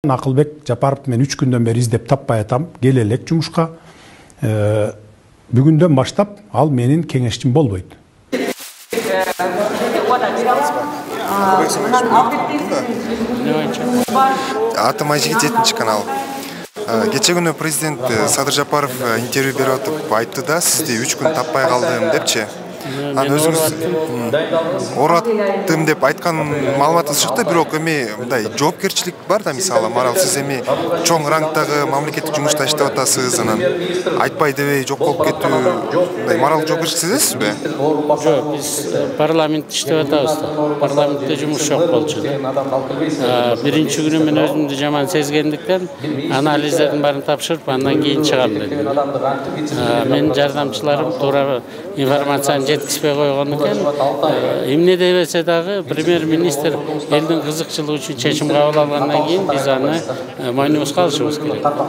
Акылбек Жапаровду мен 3 күндөн бери издеп таппай атам. Келе элек жумушка. Бүгүндөн баштап ал менин кеңешчим болбойт. Атым Айжигит 7 канал. Кече күнү президент Садыр Жапаров интервью берип атып айтты да, сизди 3 күн таппай калдым депчи. Анан өзүңүз ораттым деп айткан маалыматыңыз чыкты, бирок эми мындай жоопкерчилик бар да, мисалы, марал сиз эми чоң рангдагы мамлекеттик жумушта иштеп атасыз, анан айтпай дебей жок болуп кетүү, мындай марал жоопкерчилик сезесизби? Жок, биз парламентте иштеп атабыз да. Парламентте жумуш жок болчу. Биринчи күнү мен өзүмдү жаман сезгендиктен анализдердин баарын тапшырып, андан кийин чыгам дедим. Менин жардамчыларым туура информацияны жеткизбей койгон экен. Эмне дебесе дагы премьер-министр элдин кызыкчылыгы үчүн чечим кабыл алгандан кийин биз аны мойнубузга алышыбыз керек.